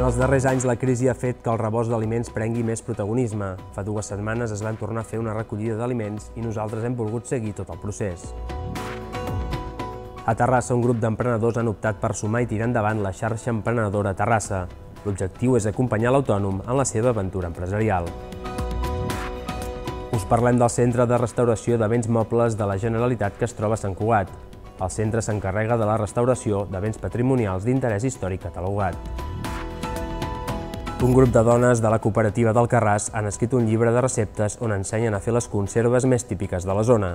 En els darrers anys, la crisi ha fet que el rebost d'aliments prengui més protagonisme. Fa 2 setmanes es van tornar a fer una recollida d'aliments i nosaltres hem volgut seguir tot el procés. A Terrassa, un grup d'emprenedors han optat per sumar i tirar endavant la xarxa emprenedora Terrassa. L'objectiu és acompanyar l'autònom en la seva aventura empresarial. Us parlem del Centre de Restauració de Béns Mobles de la Generalitat que es troba a Sant Cugat. El centre s'encarrega de la restauració de béns patrimonials d'interès històric catalogat. Un grup de dones de la cooperativa d'Alcarràs han escrit un llibre de receptes on ensenyen a fer les conserves més típiques de la zona.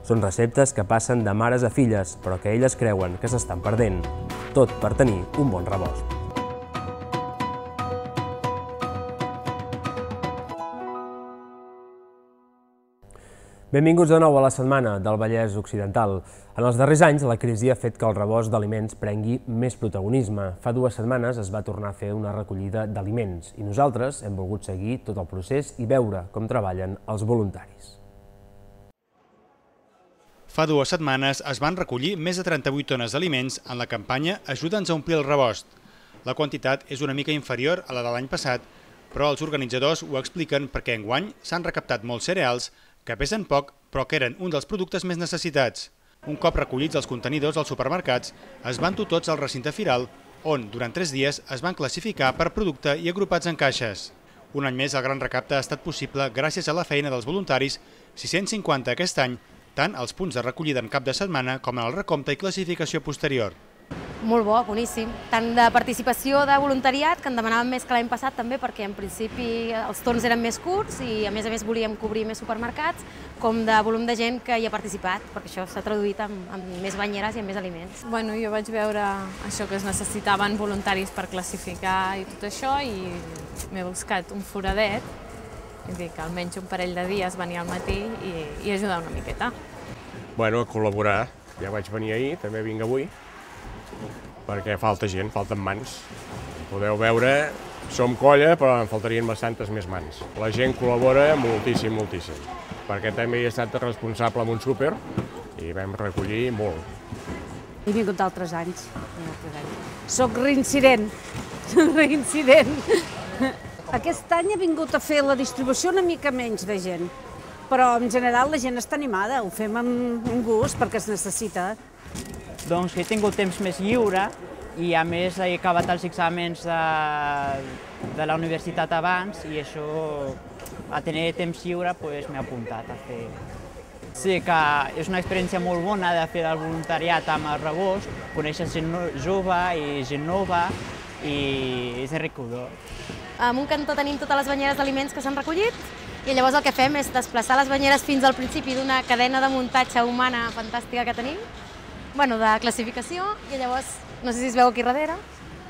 Són receptes que passen de mares a filles, però que elles creuen que s'estan perdent. Tot per tenir un bon rebost. Benvinguts de nou a la setmana del Vallès Occidental. En els darrers anys, la crisi ha fet que el rebost d'aliments prengui més protagonisme. Fa 2 setmanes es va tornar a fer una recollida d'aliments i nosaltres hem volgut seguir tot el procés i veure com treballen els voluntaris. Fa 2 setmanes es van recollir més de 38 tones d'aliments en la campanya Ajuda'ns a omplir el rebost. La quantitat és una mica inferior a la de l'any passat, però els organitzadors ho expliquen perquè enguany s'han recaptat molts cereals que pesen poc però que eren un dels productes més necessitats. Un cop recollits els contenidors als supermercats, es van dur tots al recinte firal, on durant 3 dies es van classificar per producte i agrupats en caixes. Un any més el gran recapte ha estat possible gràcies a la feina dels voluntaris, 650 aquest any, tant als punts de recollida en cap de setmana com en el recompte i classificació posterior. Molt bo, boníssim. Tant de participació de voluntariat, que en demanàvem més que l'any passat també, perquè en principi els torns eren més curts i a més volíem cobrir més supermercats, com de volum de gent que hi ha participat, perquè això s'ha traduït en més banyeres i en més aliments. Bueno, jo vaig veure això que es necessitaven voluntaris per classificar i tot això i m'he buscat un foradet, és a dir, que almenys un parell de dies venir al matí i ajudar una miqueta. Bueno, a col·laborar. Ja vaig venir ahir, també vinc avui, perquè falta gent, falten mans. Podeu veure, som colla, però en faltarien bastantes més mans. La gent col·labora moltíssim, moltíssim, perquè també he estat responsable en un súper i vam recollir molt. He vingut d'altres anys. Soc reincident. Aquest any he vingut a fer la distribució una mica menys de gent, però en general la gent està animada, ho fem amb gust perquè es necessita. Doncs he tingut temps més lliure i a més he acabat els exàmens de la universitat abans i això, a tenir temps lliure, m'he apuntat a fer. Sí que és una experiència molt bona de fer el voluntariat amb el rebost, conèixer gent jove i gent nova i és enriquidor. En un cantó tenim totes les banyeres d'aliments que s'han recollit i llavors el que fem és desplaçar les banyeres fins al principi d'una cadena de muntatge humana fantàstica que tenim, de classificació, i llavors, no sé si es veu aquí darrere,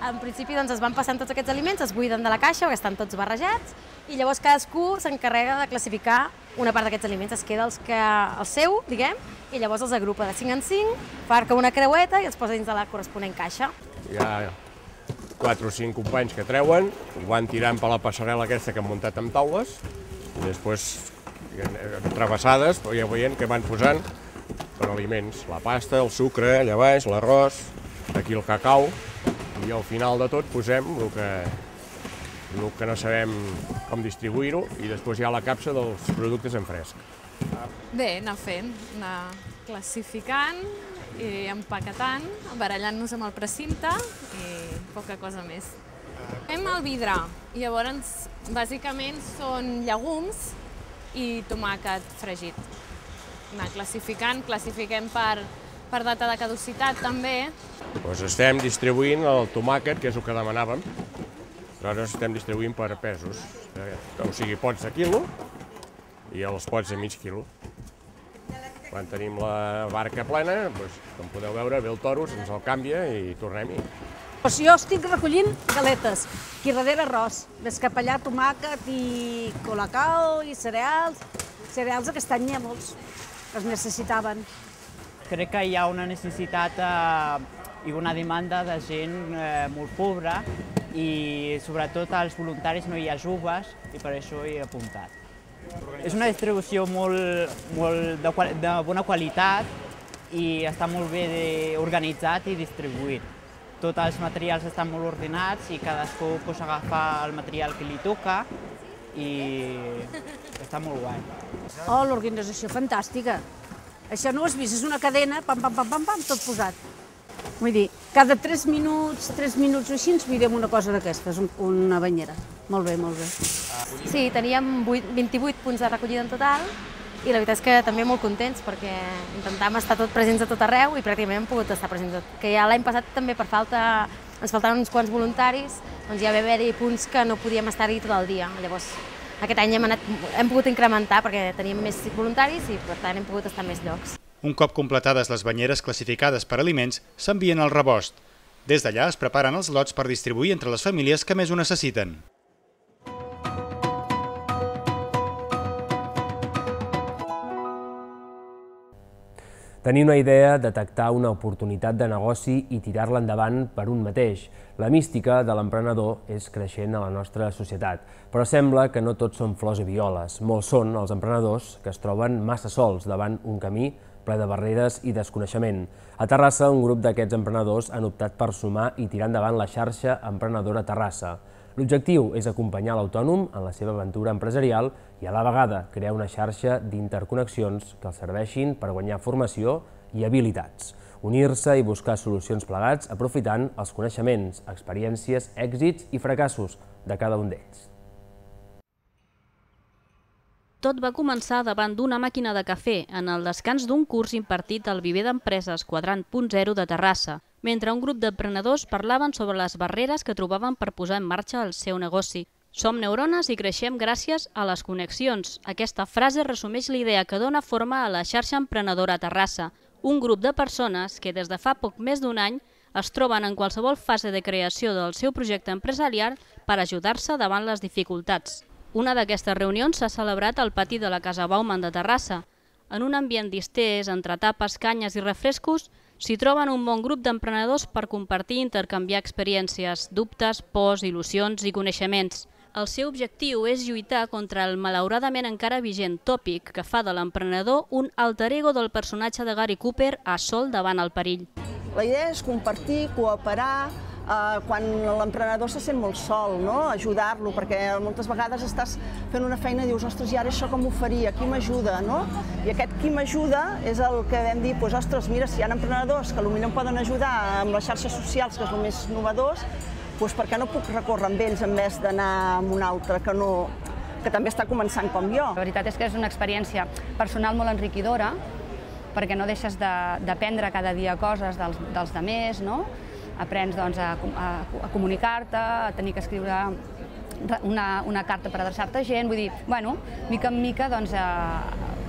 en principi es van passant tots aquests aliments, es buiden de la caixa, perquè estan tots barrejats, i llavors cadascú s'encarrega de classificar una part d'aquests aliments, es queda el seu, diguem, i llavors els agrupa de 5 en 5, farca una creueta i els posa dins de la corresponent caixa. Hi ha 4 o 5 companys que treuen, ho van tirant per la passarel·la aquesta que han muntat amb taules, i després, travessades, ja veient que van posant per aliments, la pasta, el sucre, allà baix, l'arròs, aquí el cacau, i al final de tot posem el que no sabem com distribuir-ho i després hi ha la capsa dels productes en fresc. Bé, anar fent, anar classificant i empaquetant, barallant-nos amb el precinte i poca cosa més. Fem el vidre, llavors bàsicament són llegums i tomàquet fregit. Anar classificant, classifiquem per data de caducitat també. Doncs estem distribuint el tomàquet, que és el que demanàvem, però ara estem distribuint per pesos, o sigui, pots de quilo i els pots de mig quilo. Quan tenim la barca plena, com podeu veure, ve el toro, se'ns el canvia i tornem-hi. Jo estic recollint galetes, aquí darrere arròs, més cap allà tomàquet i colacao i cereals. Cereals aquest any n'hi ha molts. Es necessitaven. Crec que hi ha una necessitat i una demanda de gent molt pobra i sobretot als voluntaris no hi ha joves i per això hi he apuntat. És una distribució molt de bona qualitat i està molt bé organitzat i distribuït. tots els materials estan molt ordenats i cadascú agafa el material que li toca i està molt guai. Oh, l'organització fantàstica. Això no ho has vist, és una cadena, pam, pam, pam, pam, pam, tot posat. Vull dir, cada 3 minuts o així ens mirem una cosa d'aquestes, una banyera. Molt bé, molt bé. Sí, teníem 28 punts de recollida en total i la veritat és que també molt contents perquè intentàvem estar presents a tot arreu i pràcticament hem pogut estar presents a tot. Que ja l'any passat també per falta, ens faltaven uns quants voluntaris, doncs ja va haver-hi punts que no podíem estar-hi tot el dia. Llavors, aquest any hem pogut incrementar perquè teníem més voluntaris i per tant hem pogut estar a més llocs. Un cop completades les banyeres classificades per aliments, s'envien al rebost. Des d'allà es preparen els lots per distribuir entre les famílies que més ho necessiten. Tenir una idea, detectar una oportunitat de negoci i tirar-la endavant per un mateix. La mística de l'emprenedor és creixent a la nostra societat, però sembla que no tots són flors i violes. Molts són els emprenedors que es troben massa sols davant un camí ple de barreres i desconeixement. A Terrassa, un grup d'aquests emprenedors han optat per sumar i tirar endavant la xarxa Emprenedora Terrassa. L'objectiu és acompanyar l'autònom en la seva aventura empresarial i a la vegada crear una xarxa d'interconnexions que els serveixin per guanyar formació i habilitats, unir-se i buscar solucions plegats aprofitant els coneixements, experiències, èxits i fracassos de cada un d'ells. Tot va començar davant d'una màquina de cafè en el descans d'un curs impartit al Viver d'Empreses Quadrant.0 de Terrassa, mentre un grup d'emprenedors parlaven sobre les barreres que trobaven per posar en marxa el seu negoci. Som neurones i creixem gràcies a les connexions. Aquesta frase resumeix l'idea que dona forma a la xarxa Emprenedora Terrassa, un grup de persones que des de fa poc més d'un any es troben en qualsevol fase de creació del seu projecte empresarial per ajudar-se davant les dificultats. Una d'aquestes reunions s'ha celebrat al pati de la Casa Bauman de Terrassa. En un ambient distès, entre tapes, canyes i refrescos, s'hi troben un bon grup d'emprenedors per compartir i intercanviar experiències, dubtes, pors, il·lusions i coneixements. El seu objectiu és lluitar contra el malauradament encara vigent tòpic que fa de l'emprenedor un alter ego del personatge de Gary Cooper a sol davant el perill. La idea és compartir, cooperar, quan l'emprenedor se sent molt sol, ajudar-lo, perquè moltes vegades estàs fent una feina i dius, ostres, i ara això com ho faria, qui m'ajuda, no? I aquest qui m'ajuda és el que vam dir, doncs, ostres, mira, si hi ha emprenedors que potser em poden ajudar amb les xarxes socials, que és el més innovadors, doncs per què no puc recórrer amb ells en vez d'anar amb un altre que també està començant com jo? La veritat és que és una experiència personal molt enriquidora, perquè no deixes d'aprendre cada dia coses dels demés, no? Aprens a comunicar-te, a tenir que escriure una carta per adreçar-te a gent, vull dir, bueno, mica en mica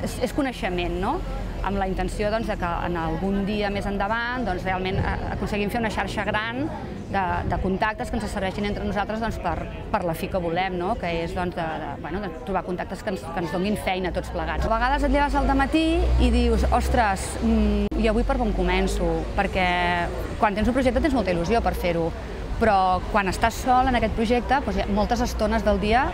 és coneixement, no? Amb la intenció que en algun dia més endavant realment aconseguim fer una xarxa gran de contactes que ens serveixin entre nosaltres per la fi que volem, que és trobar contactes que ens donin feina tots plegats. A vegades et lleves al dematí i dius, ostres, i avui per on començo? Perquè quan tens un projecte tens molta il·lusió per fer-ho, però quan estàs sol en aquest projecte, moltes estones del dia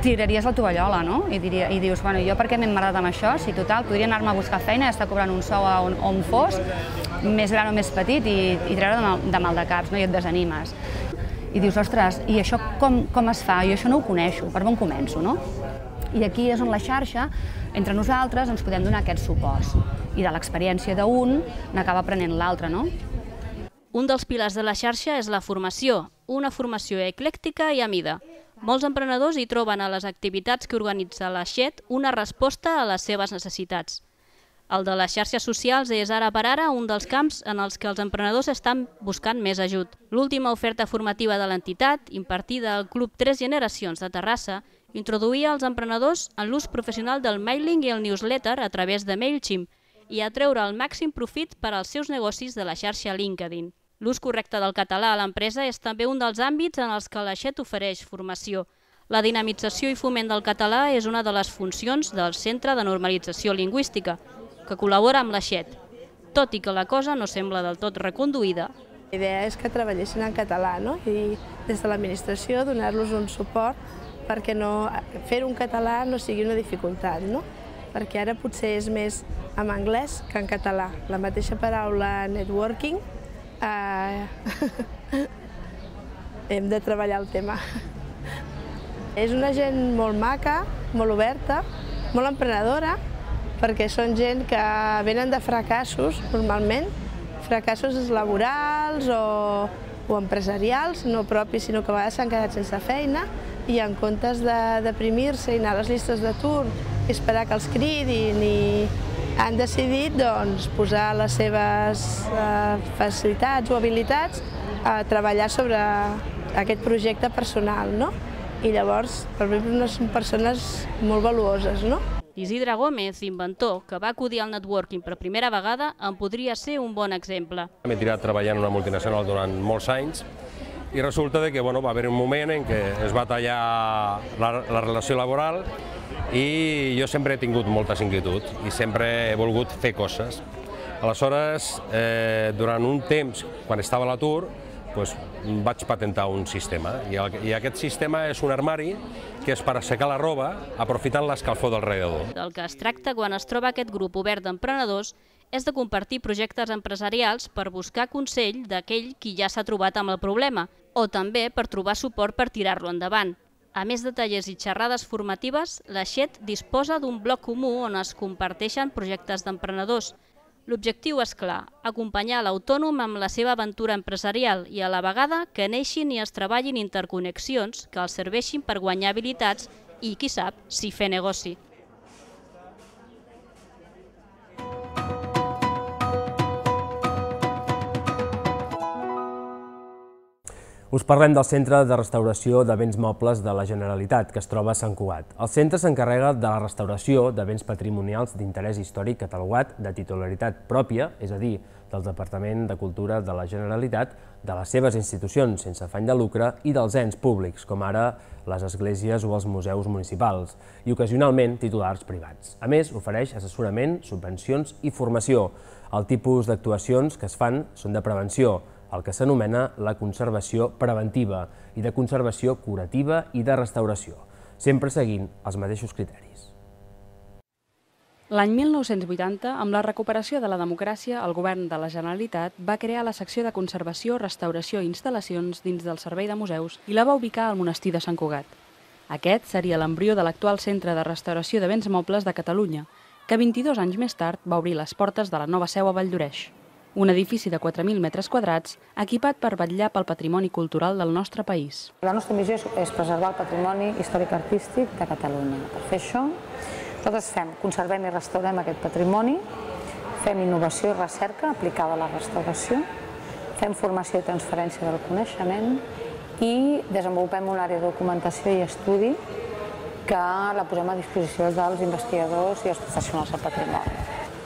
tiraries la tovallola, no? I dius, bueno, jo per què m'he emmerdat amb això? Si total, podria anar-me a buscar feina i estar cobrant un sou on fos, més gran o més petit, i treure de mal de caps, i et desanimes. I dius, ostres, i això com es fa? Jo això no ho coneixo, per on començo, no? I aquí és on la xarxa, entre nosaltres, ens podem donar aquests suports. I de l'experiència d'un n'acaba aprenent l'altre, no? Un dels pilars de la xarxa és la formació, una formació eclèctica i a mida. Molts emprenedors hi troben a les activitats que organitza la XET una resposta a les seves necessitats. El de les xarxes socials és ara per ara un dels camps en els que els emprenedors estan buscant més ajut. L'última oferta formativa de l'entitat, impartida al Club 3 Generacions de Terrassa, introduïa els emprenedors en l'ús professional del mailing i el newsletter a través de MailChimp i a treure el màxim profit per als seus negocis de la xarxa LinkedIn. L'ús correcte del català a l'empresa és també un dels àmbits en els que la XET ofereix formació. La dinamització i foment del català és una de les funcions del Centre de Normalització Lingüística, que col·labora amb la XET, tot i que la cosa no sembla del tot reconduïda. La idea és que treballessin en català, i des de l'administració donar-los un suport perquè fer-ho en català no sigui una dificultat, perquè ara potser és més en anglès que en català. La mateixa paraula networking Hem de treballar el tema. És una gent molt maca, molt oberta, molt emprenedora, perquè són gent que venen de fracassos, normalment, fracassos laborals o empresarials, no propis, sinó que a vegades s'han quedat sense feina i en comptes de deprimir-se i anar a les llistes d'atur i esperar que els cridin han decidit posar les seves facilitats o habilitats a treballar sobre aquest projecte personal, no? I llavors, per mi, són persones molt valuoses, no? Isidre Gómez, inventor, que va acudir al networking per primera vegada, en podria ser un bon exemple. M'he tirat treballant en una multinacional durant molts anys i resulta que va haver un moment en què es va tallar la relació laboral i jo sempre he tingut moltes inquietuds i sempre he volgut fer coses. Aleshores, durant un temps, quan estava a l'atur, vaig patentar un sistema i aquest sistema és un armari que és per assecar la roba aprofitant l'escalfor del radiador. Del que es tracta quan es troba aquest grup obert d'emprenedors és de compartir projectes empresarials per buscar consell d'aquell qui ja s'ha trobat amb el problema o també per trobar suport per tirar-lo endavant. A més de tallers i xerrades formatives, la XET disposa d'un bloc comú on es comparteixen projectes d'emprenedors. L'objectiu és clar, acompanyar l'autònom amb la seva aventura empresarial i a la vegada que neixin i es treballin interconnexions que els serveixin per guanyar habilitats i, qui sap, si fer negoci. Us parlem del Centre de Restauració de Béns Mobles de la Generalitat, que es troba a Sant Cugat. El centre s'encarrega de la restauració de béns patrimonials d'interès històric catalogat de titularitat pròpia, és a dir, del Departament de Cultura de la Generalitat, de les seves institucions sense afany de lucre i dels ens públics, com ara les esglésies o els museus municipals, i ocasionalment titulars privats. A més, ofereix assessorament, subvencions i formació. El tipus d'actuacions que es fan són de prevenció, el que s'anomena la conservació preventiva i de conservació curativa i de restauració, sempre seguint els mateixos criteris. L'any 1980, amb la recuperació de la democràcia, el govern de la Generalitat va crear la secció de conservació, restauració i instal·lacions dins del Servei de Museus i la va ubicar al monestir de Sant Cugat. Aquest seria l'embrió de l'actual Centre de Restauració de Béns Mobles de Catalunya, que 22 anys més tard va obrir les portes de la nova seu a Valldoreix. Un edifici de 4.000 metres quadrats equipat per vetllar pel patrimoni cultural del nostre país. La nostra missió és preservar el patrimoni històric-artístic de Catalunya. Per fer això, nosaltres conservem i restaurem aquest patrimoni, fem innovació i recerca aplicada a la restauració, fem formació i transferència del coneixement i desenvolupem una àrea de documentació i estudi que la posem a disposició dels investigadors i els professionals del patrimoni.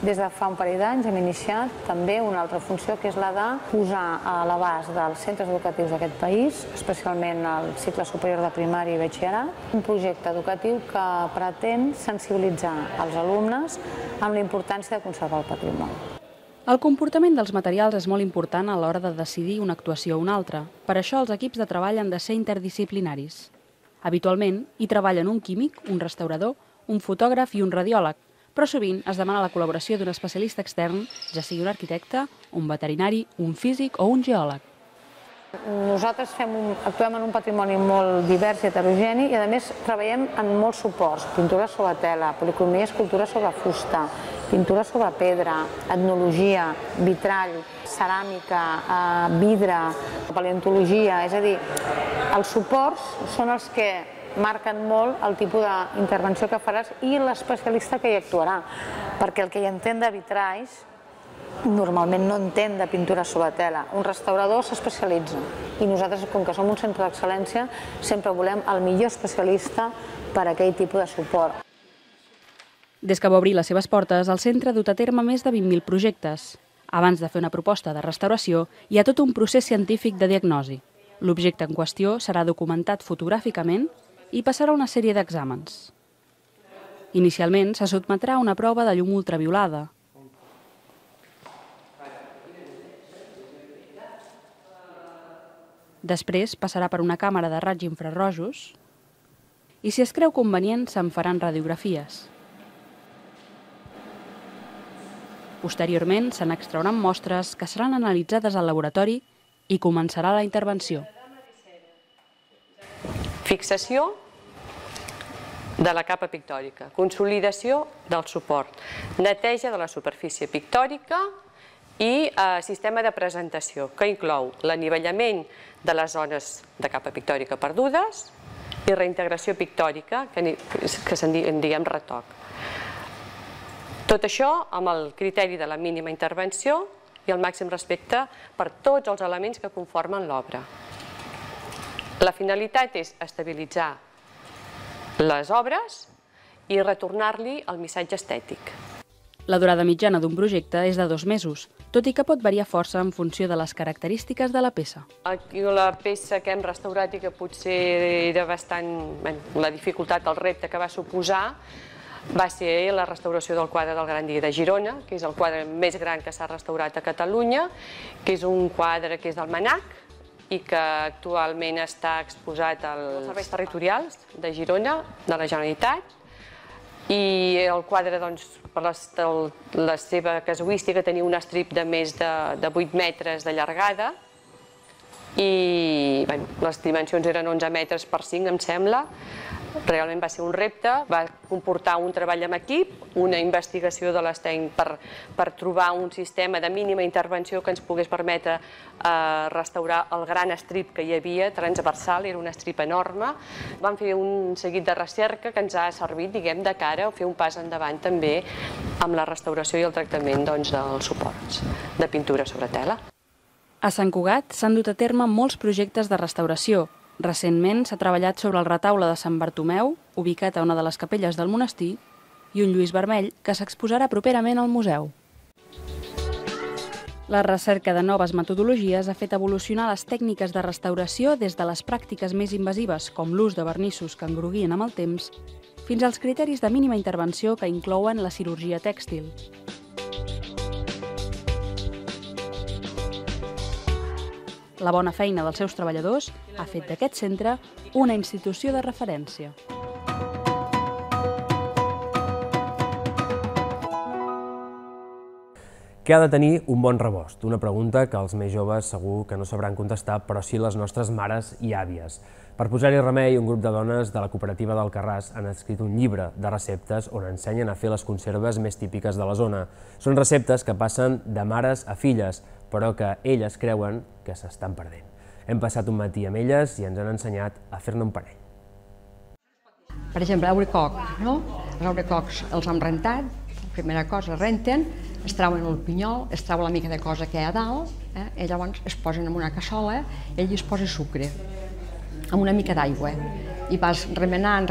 Des de fa un parell d'anys hem iniciat també una altra funció, que és la de posar a l'abast dels centres educatius d'aquest país, especialment al cicle superior de primària i batxillerat, un projecte educatiu que pretén sensibilitzar els alumnes amb la importància de conservar el patrimoni. El comportament dels materials és molt important a l'hora de decidir una actuació o una altra. Per això els equips de treball han de ser interdisciplinaris. Habitualment hi treballen un químic, un restaurador, un fotògraf i un radiòleg, però sovint es demana la col·laboració d'un especialista extern, ja sigui un arquitecte, un veterinari, un físic o un geòleg. Nosaltres actuem en un patrimoni molt divers i heterogeni i, a més, treballem en molts suports: pintura sobre tela, policromia, escultura sobre fusta, pintura sobre pedra, etnologia, vitrall, ceràmica, vidre, paleontologia. És a dir, els suports són els que marquen molt el tipus d'intervenció que faràs i l'especialista que hi actuarà, perquè el que hi entén de vitralls normalment no entén de pintura sobre tela. Un restaurador s'especialitza i nosaltres, com que som un centre d'excel·lència, sempre volem el millor especialista per a aquell tipus de suport. Des que va obrir les seves portes, el centre ha dut a terme més de 20.000 projectes. Abans de fer una proposta de restauració, hi ha tot un procés científic de diagnosi. L'objecte en qüestió serà documentat fotogràficament i passarà una sèrie d'exàmens. Inicialment se sotmetrà a una prova de llum ultraviolada. Després passarà per una càmera de raigs infrarrojos i, si es creu convenient, se'n faran radiografies. Posteriorment, se n'extrauran mostres que seran analitzades al laboratori i començarà la intervenció. Fixació de la capa pictòrica, consolidació del suport, neteja de la superfície pictòrica i sistema de presentació, que inclou l'anivellament de les zones de capa pictòrica perdudes i reintegració pictòrica, que en diem retoc. Tot això amb el criteri de la mínima intervenció i el màxim respecte per tots els elements que conformen l'obra. La finalitat és estabilitzar les obres i retornar-li el missatge estètic. La durada mitjana d'un projecte és de 2 mesos, tot i que pot variar força en funció de les característiques de la peça. Aquí la peça que hem restaurat i que potser era bastant... La dificultat, el repte que va suposar va ser la restauració del quadre del Gran Dia de Girona, que és el quadre més gran que s'ha restaurat a Catalunya, que és un quadre que és del Manac i que actualment està exposat als serveis territorials de Girona, de la Generalitat. I el quadre, per la seva casuística, tenia un estrip de més de 8 metres de llargada i les dimensions eren 11 metres per 5, em sembla. Realment va ser un repte, va comportar un treball amb equip, una investigació de les tècniques per trobar un sistema de mínima intervenció que ens pogués permetre restaurar el gran estrip que hi havia, transversal, era un estrip enorme. Vam fer un seguit de recerca que ens ha servit, diguem, de cara a fer un pas endavant també amb la restauració i el tractament dels suports de pintura sobre tela. A Sant Cugat s'han dut a terme molts projectes de restauració. Recentment s'ha treballat sobre el retaule de Sant Bartomeu, ubicat a una de les capelles del monestir, i un Lluís Vermell, que s'exposarà properament al museu. La recerca de noves metodologies ha fet evolucionar les tècniques de restauració des de les pràctiques més invasives, com l'ús de vernissos que engruguien amb el temps, fins als criteris de mínima intervenció que inclouen la cirurgia tèxtil. La bona feina dels seus treballadors ha fet d'aquest centre una institució de referència. Què ha de tenir un bon rebost? Una pregunta que els més joves segur que no sabran contestar, però sí les nostres mares i àvies. Per posar-hi remei, un grup de dones de la cooperativa d'Alcarràs han escrit un llibre de receptes on ensenyen a fer les conserves més típiques de la zona. Són receptes que passen de mares a filles, però que elles creuen que s'estan perdent. Hem passat un matí amb elles i ens han ensenyat a fer-ne un parell. Per exemple, abricoc, no? Els abricocs els hem rentat, primera cosa, renten, es trauen el pinyol, es trau la mica de cosa que hi ha a dalt, i llavors es posen en una cassola i allí es posa sucre, amb una mica d'aigua, i vas remenant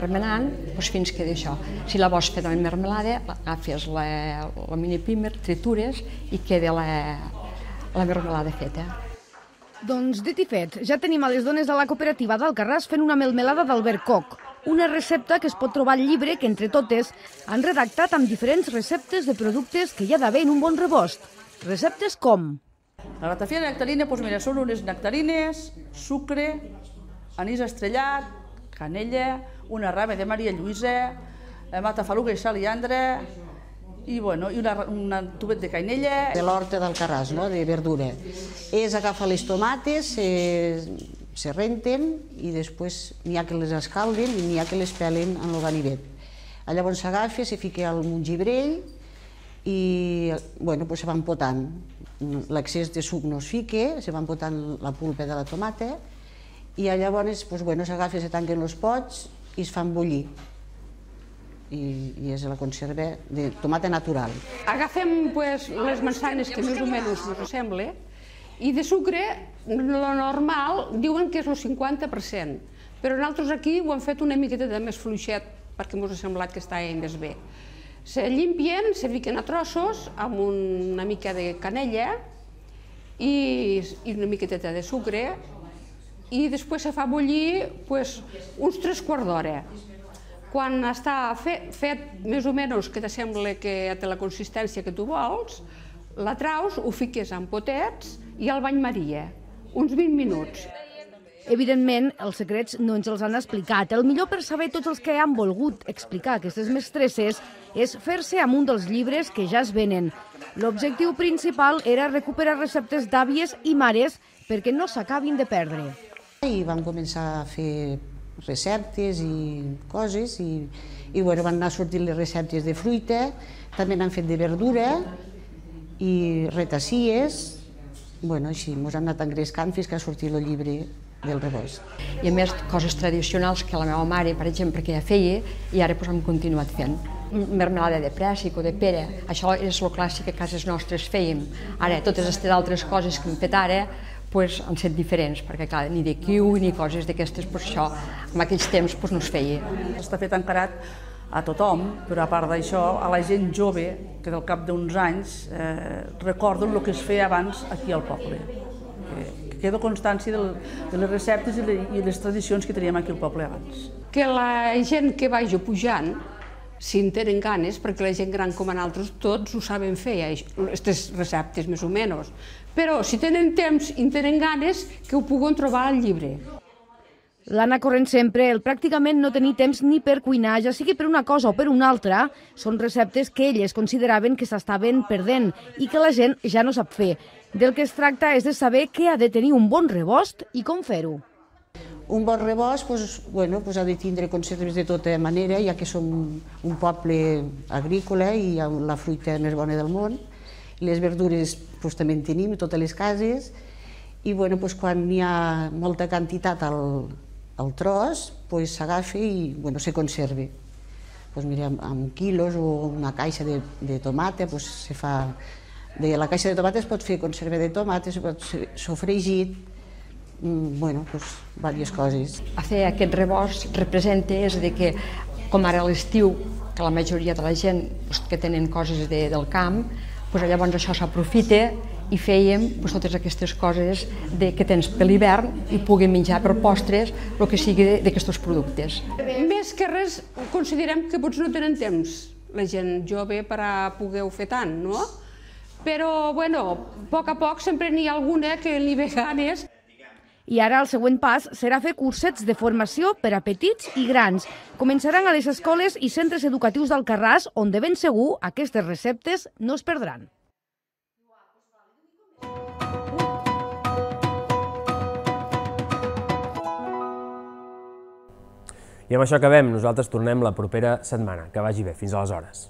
fins que d'això. Si la vols fer de mermelada, agafes la mini primer, tritures i queda la mermelada feta. Doncs dit i fet, ja tenim a les dones de la cooperativa d'Alcarràs fent una melmelada d'albercoc, una recepta que es pot trobar al llibre que entre totes han redactat amb diferents receptes de productes que hi ha d'haver en un bon rebost. Receptes com? La ratafia de nectarina, doncs mira, són unes nectarines, sucre, anís estrellat, canella, una rama de Maria Lluïsa, matafaluga i saliandra, i un tubet de canella. De l'horta d'Alcarràs, de verdura. És agafar les tomates, se renten i després n'hi ha que les escalden i n'hi ha que les pelen en el ganivet. Llavors s'agafa, se fica al gibrell i se van potant. L'excés de suc no es fica, se van potant la pulpa de la tomata i llavors s'agafa, se tanquen els pots i es fan bullir. I és la conserva de tomata natural. Agafem les manzanes que més o menys ens sembla i de sucre, lo normal, diuen que és el 50%, però nosaltres aquí ho hem fet una miqueta de més fluixet perquè ens ha semblat que estava més bé. Se llimpien, se fiquen a trossos amb una mica de canella i una miqueteta de sucre i després se fa bullir uns 3/4 d'hora. Quan està fet més o menys que te sembla que té la consistència que tu vols, la traus, ho fiques en potets i al bany Maria, uns 20 minuts. Evidentment, els secrets no ens els han explicat. El millor per saber tots els que han volgut explicar aquestes mestresses és fer-se amb un dels llibres que ja es venen. L'objectiu principal era recuperar receptes d'àvies i mares perquè no s'acabin de perdre. I vam començar a fer receptes i coses i van anar sortint les receptes de fruita, també n'han fet de verdura i retacies. Així ens han anat engrescant fins que ha sortit el llibre del rebost. I a més, coses tradicionals que la meva mare, per exemple, que ja feia, i ara hem continuat fent. Mermelada de préssic o de pera, això és el clàssic que a cases nostres fèiem. Ara, totes aquestes altres coses que hem fet ara han set diferents, perquè clar, ni de kiwi ni coses d'aquestes, això en aquells temps no es feia. Està fet encarat a tothom, però a part d'això, a la gent jove, que del cap d'uns anys recorden el que es feia abans aquí al poble. Que queda constància de les receptes i les tradicions que teníem aquí al poble abans. Que la gent que vagi pujant, si en tenen ganes, perquè la gent gran com nosaltres tots ho saben fer, aquestes receptes més o menys, però si tenen temps i tenen ganes, que ho puguen trobar al llibre. L'Anna corrent sempre, el pràcticament no tenir temps ni per cuinar, ja sigui per una cosa o per una altra, són receptes que elles consideraven que s'estaven perdent i que la gent ja no sap fer. Del que es tracta és de saber què ha de tenir un bon rebost i com fer-ho. Un bon rebost ha de tindre conserves de tota manera, ja que som un poble agrícola i la fruita més bona del món. Les verdures també en tenim a totes les cases i quan hi ha molta quantitat al tros s'agafa i se conserva. Amb quilos o una caixa de tomata se fa... De la caixa de tomata es pot fer conserva de tomata, es pot fer sofregit, diverses coses. Fer aquest rebost representa que, com ara a l'estiu, que la majoria de la gent que tenen coses del camp, llavors això s'aprofita i fèiem totes aquestes coses que tens per l'hivern i puguem menjar per postres el que sigui d'aquests productes. Més que res, considerem que potser no tenen temps la gent jove per a poder-ho fer tant, no? Però, a poc a poc sempre n'hi ha alguna que li ve ganes. I ara el següent pas serà fer cursets de formació per a petits i grans. Començaran a les escoles i centres educatius d'Alcarràs, on de ben segur aquestes receptes no es perdran. I amb això acabem. Nosaltres tornem la propera setmana. Que vagi bé. Fins aleshores.